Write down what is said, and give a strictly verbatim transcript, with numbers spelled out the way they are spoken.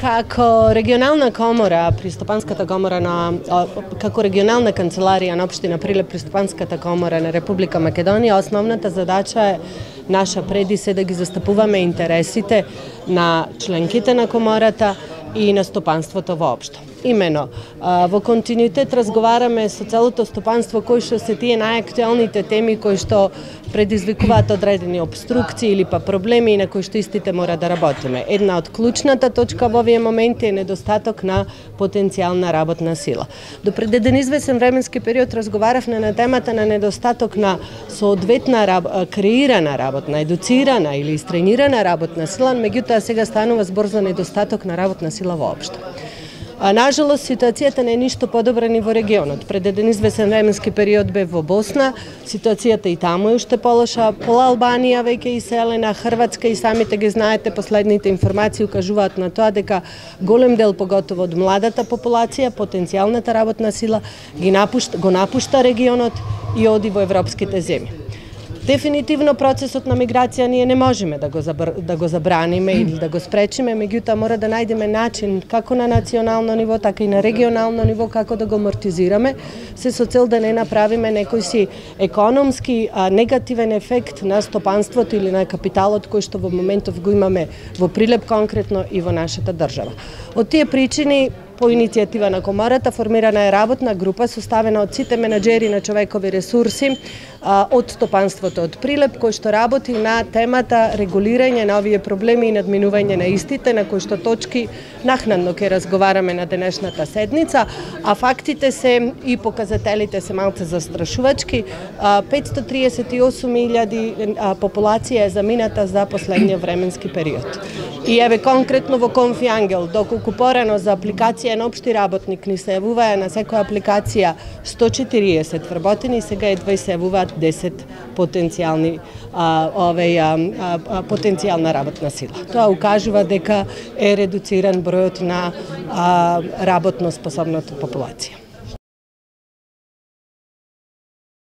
Како регионална комора, Пристопанската комора на како регионална канцеларија на општина Прилеп, Пристопанската комора на Република Македонија, основната задача е наша преди се да ги застапуваме интересите на членките на комората и на стопанството воопшто. Имено, во континуитет разговараме со целото стопанство кои што се тие најактуелните теми кои што предизвикуваат одредени обструкции или па проблеми и на кои што истите мора да работиме. Една од клучната точка во овие моменти е недостаток на потенцијална работна сила. До пред еден извесен временски период разговаравме на темата на недостаток на соодветна раб... креирана работна, едуцирана или истренирана работна сила, меѓутоа сега станува збор за недостаток на работна сила воопшто. А, нажалост, ситуацијата не е ништо подобра ни во регионот. Пред еден извесен временски период бе во Босна, ситуацијата и таму е уште полоша, пола Албанија веќе иселена, Хрватска и самите ги знаете, последните информации укажуваат на тоа дека голем дел, поготово од младата популација, потенцијалната работна сила, ги напушта, го напушта регионот и оди во европските земји. Дефинитивно процесот на миграција ние не можеме да го, забр... да го забраниме или да го спречиме, меѓутоа мора да најдеме начин како на национално ниво, така и на регионално ниво како да го амортизираме, се со цел да не направиме некој си економски а, негативен ефект на стопанството или на капиталот кој што во моментов го имаме во Прилеп конкретно и во нашата држава. Од тие причини, по иницијатива на комората, формирана е работна група составена од сите менаџери на човекови ресурси а, од стопанството од Прилеп, кој што работи на темата регулирање на овие проблеми и надминување на истите, на кои што точки нахнадно ќе разговараме на денешната седница, а фактите се и показателите се малце застрашувачки. петстотини триесет и осум илјади популација е замината за последниот временски период. И еве конкретно во Конфи Ангел, доколку порано за апликација на општи работник ни се јавуваја на секоја апликација сто четириесет вработени, сега едва се јавуваат десет потенцијални а, овеј, а, а, потенцијална работна сила. Тоа укажува дека е редуциран бројот на а, работно способната популација.